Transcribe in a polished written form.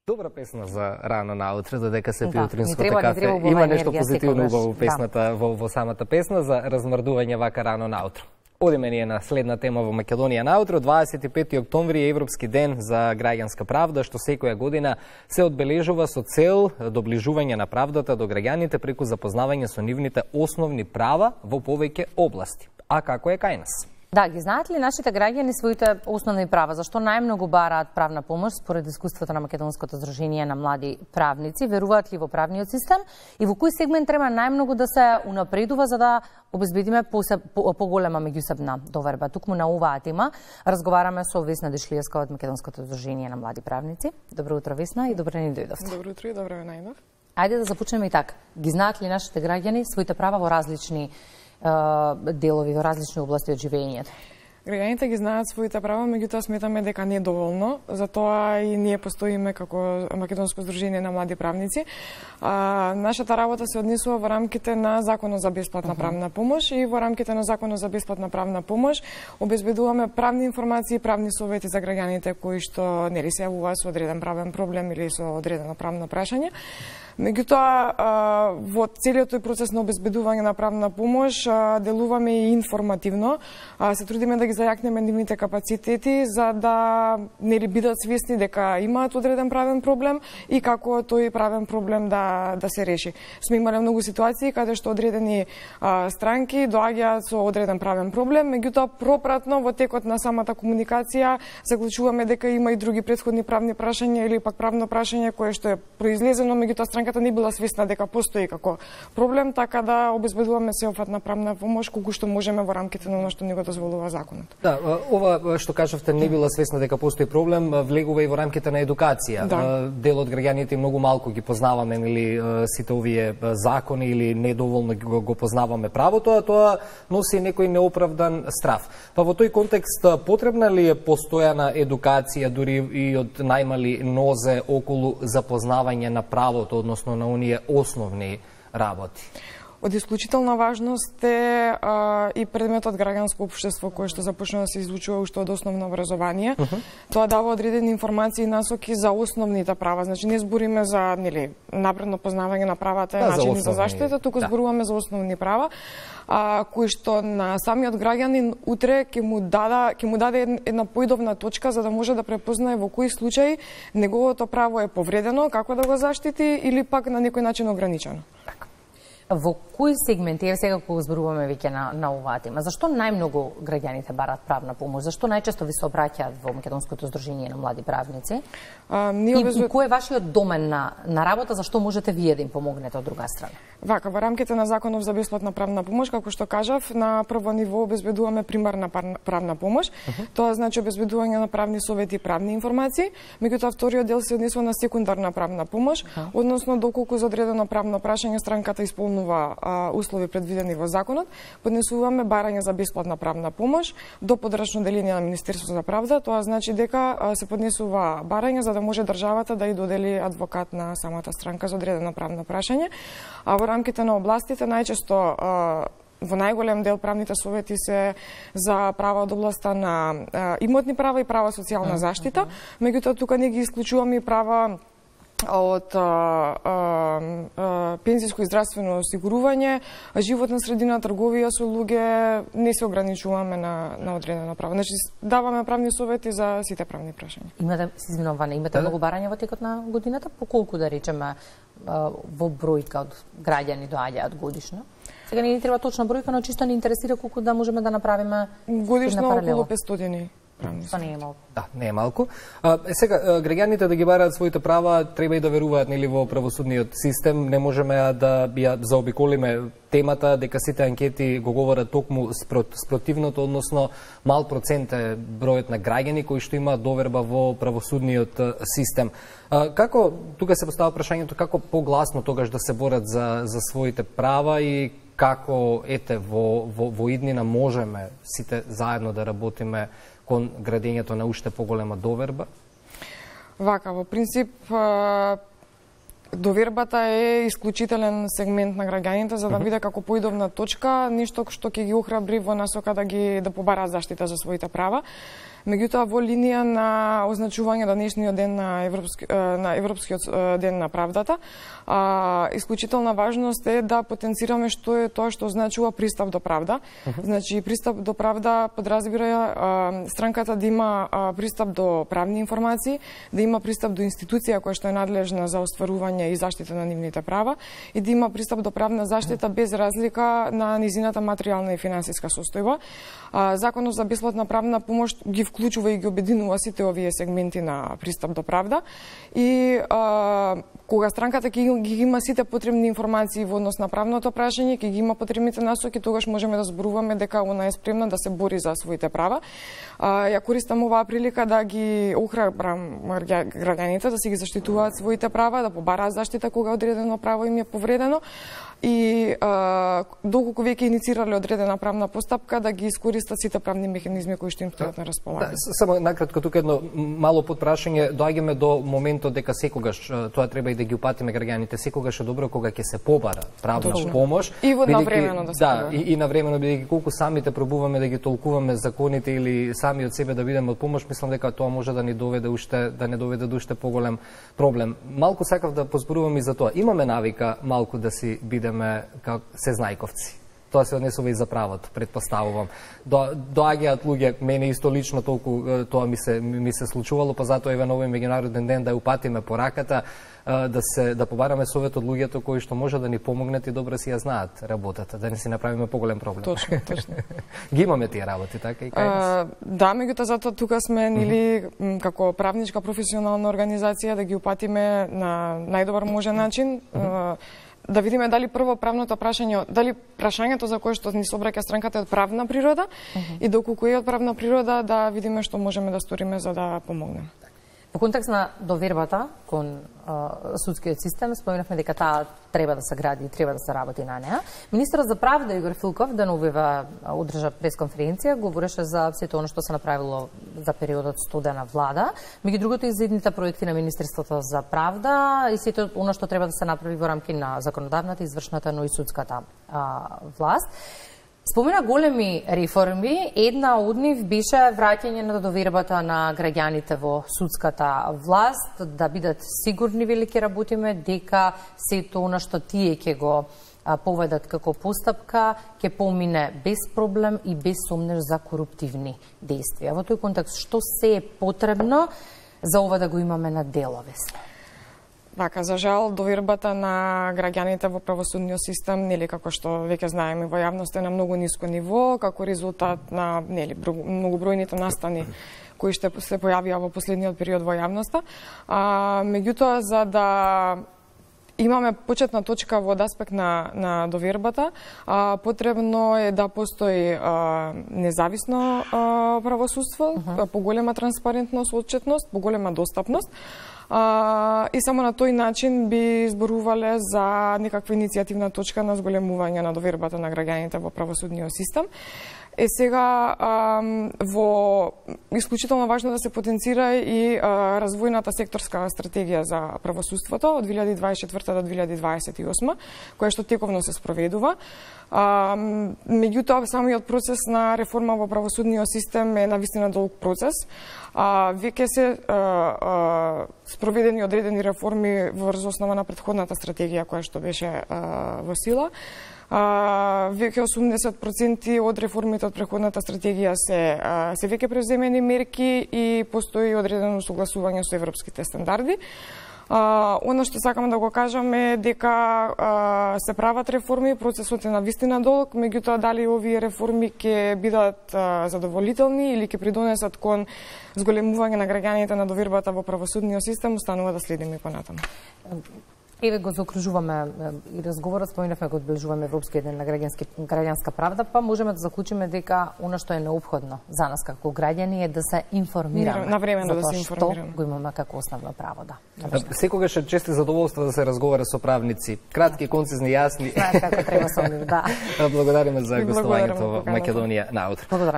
Добра песна за рано наутре, додека се пие утринското кафе. Има нешто позитивно убаво песната во самата песна за размрдување вака рано наутро. Одиме ние на следна тема во Македонија наутро. 25 октомври е Европски ден за граѓанска правда, што секоја година се одбележува со цел доближување на правдата до граѓаните преку запознавање со нивните основни права во повеќе области. А како е кај нас? Да, ги знаат ли нашите граѓани своите основни права? Зашто најмногу бараат правна помош според искуството на Македонското здружение на млади правници? Веруваат ли во правниот систем и во кој сегмент треба најмногу да се унапредува за да обезбедиме поголема меѓусебна доверба? Тукму на оваа тема разговараме со Весна Дишлиевска од Македонското здружение на млади правници. Добро утро, Весна, и добре ни дојдовте. Добро утро и добро ве најдов. Ајде да започнеме и така. Ги знаат ли нашите граѓани своите права во различни делови, во различни области од живењето? Граѓаните ги знаат своите права, меѓутоа сметаме дека не е доволно. Затоа и ние постоиме како Македонско здружение на млади правници. Нашата работа се однесува во рамките на Законот за бесплатна правна помош и во рамките на Законот за бесплатна правна помош обезбедуваме правни информации и правни совети за граѓаните кои што нели се јавуваат со одреден правен проблем или со одредено правно прашање. Меѓутоа, во целиот тој процес на обезбедување на правна помош делуваме и информативно. Се трудиме да ги зајакнеме нивните капацитети за да нели бидат свесни дека имаат одреден правен проблем и како тој правен проблем да се реши. Сме имале многу ситуации каде што одредени странки доаѓаат со одреден правен проблем, меѓутоа пропратно во текот на самата комуникација заклучуваме дека има и други претходни правни прашања или пак правно прашање кое што е произлезено, меѓутоа странката не била свесна дека постои како проблем, така да обезбедуваме сеопфатна правна помош колку што можеме во рамките на она што ни го дозволува законот. Да, ова што кажавте не била свесна дека постои проблем, влегува и во рамките на едукација. Да. Дел од граѓаните многу малку ги познаваме нели сите овие закони или недоволно го познаваме правото, а тоа носи некој неоправдан страф. Па во тој контекст потребна ли е постојана едукација дури и од најмали нозе околу запознавање на правото, односно на оние основни работи? Од исклучителна важност е и предметот граѓанско општество кој што започна да се изучува уште од основно образование. Тоа дава одредени информации и насоки за основните права. Значи не збориме за нели напредно познавање на правата и начини за заштита, туку зборуваме за основни права, кои што на самиот граѓанин утре ќе му даде една поидовна точка за да може да препознае во кои случаи неговото право е повредено, како да го заштити или пак на некој начин ограничено. Во кои сегменти, сега кога зборуваме веќе на оваа тема, зашто најмногу граѓаните бараат правна помош? Зашто најчесто ви се обраќаат во Македонското здружение на млади правници? И кој е вашиот домен на работа, зашто можете вие да им помогнете од друга страна? Вака, во рамките на Законов за бесплатна правна помош, како што кажав, на прво ниво обезбедуваме примарна правна помош. Тоа значи обезбедување на правни совети и правни информации. Меѓутоа вториот дел се однесува на секундарна правна помош, односно доколку за одредено правно прашање странката исполнува услови предвидени во законот, поднесуваме барање за бесплатна правна помош до подрачно деление на Министерството за правда. Тоа значи дека се поднесува барање за да може државата да ја додели адвокат на самата странка за одредено правно прашање. А во рамките на областите најчесто во најголем дел правните совети се за права од областа на имотни права и права социјална заштита. Меѓутоа тука не ги исклучуваме и права од пензиско и здравствено осигурување, животна средина, трговија со луѓе, не се ограничуваме на одредено право. Значи даваме правни совети за сите правни прашања. Имате многу барања во текот на годината, по колку да речеме во бројка од граѓани доаѓаат годишно? Сега не ни треба точна бројка, но чисто ни интересира колку да можеме да направиме годишно околу 500. Тоа не е малку. Да, не е малку. Сега, граѓаните да ги бараат своите права, треба и да веруваат нели во правосудниот систем. Не можеме да ја заобиколиме темата дека сите анкети го говорат токму спротивното, односно мал процент е бројот на граѓани кои што имаат доверба во правосудниот систем. Како, тука се поставува прашањето, како погласно тогаш да се борат за своите права и како во иднина можеме сите заедно да работиме кон градењето на уште поголема доверба? Вака, во принцип, довербата е исклучителен сегмент на граѓаните за да биде како поидовна точка, нешто што ќе ги охрабри во насока да побараат заштита за своите права. Меѓутоа, во линија на означување денешниот ден на Европскиот ден на правдата, исклучителна важност е да потенцираме што е тоа што означува пристап до правда. Значи, пристап до правда подразбира странката да има пристап до правни информации, да има пристап до институција која што е надлежна за остварување и заштита на нивните права и да има пристап до правна заштита без разлика на низината материјална и финансиска состојба. Законот за бесплатна правна помош ги вклучува и ги обединува сите овие сегменти на пристап до правда и кога странката ги има сите потребни информации во однос на правното прашање, ќе ги има потребните насоки, тогаш можеме да зборуваме дека она е спремна да се бори за своите права. Ја користам оваа прилика да ги охрабрам граѓаните да си ги заштитуваат своите права, да побараат заштита кога одредено право им е повредено и доколку веќе иницирале одредена правна постапка да ги искористат сите правни механизми кои што им стојат на располагање. Само накратко тука едно мало подпрашање, доаѓаме до моментот дека секогаш тоа треба и да ги упатиме граѓаните, секогаш е добро кога ќе се побара правна помош и навремено да се побара. И навремено, бидејќи колку самите пробуваме да ги толкуваме законите или сами од себе да бидеме од помош, мислам дека тоа може да ни доведе не доведе до уште поголем проблем. Малку сакав да позборувам и за тоа. Имаме навика малку да си бидеме како сезнајковци. Тоа се однесува и за правото, предпоставувам. Доаѓаат луѓе, мене исто лично толку тоа ми се случувало, па затоа еве на овој меѓународен ден да ја упатиме пораката, да побараме совет од луѓето кои што може да ни помогнат и добро си ја знаат работата, да не си направиме поголем проблем. Точно. Ги имаме тие работи, така и кај нас? Да, меѓутоа затоа тука сме нели како правничка професионална организација да ги упатиме на најдобар можен начин. Да видиме дали прво правното прашање, дали прашањето за кое што ни се обраќа странката е од правна природа и доколку е од правна природа да видиме што можеме да сториме за да помогнеме. Во контекст на довербата кон судскиот систем, споменавме дека таа треба да се гради и треба да се работи на неа. Министерот за правда Игор Филков деновива одржа пресконференција, говореше за сето оно што се направило за периодот студена влада, меѓу другото и за идните проекти на Министерството за правда и сето оно што треба да се направи во рамки на законодавната, извршната, но и судската власт. Спомена големи реформи, една од нив беше враќање на довербата на граѓаните во судската власт, да бидат сигурни, велики работиме, дека сето она што тие ќе го поведат како постапка, ќе помине без проблем и без сомнеш за коруптивни действија. Во тој контекст, што се е потребно за ова да го имаме на деловес? Така, за жал, довербата на граѓаните во правосудниот систем, нели како што веќе знаеме во јавноста е на многу ниско ниво, како резултат на многобројните настани кои што се појавија во последниот период во јавноста. Меѓутоа, за да имаме почетна точка во аспект на довербата, потребно е да постои независно правосудство, поголема транспарентност, отчетност, поголема достапност. И само на тој начин би зборувале за некаква иницијативна точка на зголемување на довербата на граѓаните во правосудниот систем. Сега во исклучително важно да се потенцира и развојната секторска стратегија за правосудството од 2024 до 2028, која што тековно се спроведува. Меѓутоа, самиот процес на реформа во правосудниот систем е навистина долг процес. Веќе се спроведени одредени реформи врз основа на претходната стратегија која што беше во сила. Веќе 80% од реформите од претходната стратегија се веќе преземени мерки и постои одредено согласување со европските стандарди. Оно што сакам да го кажам е дека се прават реформи, процесот е навистина долг, меѓутоа дали овие реформи ќе бидат задоволителни или ќе придонесат кон зголемување на граѓаните на довербата во правосудниот систем, останува да следиме понатаму. Еве го заокружуваме и разговорот, споменавме го одбележуваме Европскиот ден на граѓанска правда, па можеме да заклучиме дека она што е неопходно за нас како граѓани е да се информираме. Навремено да се информираме. Што го имаме како основно право, да. Секогаш е често задоволство да се разговара со правници. Кратки, концизни, јасни. Знаат како треба со нив, да. Благодариме за гостувањето во Македонија наутро. Благодарам.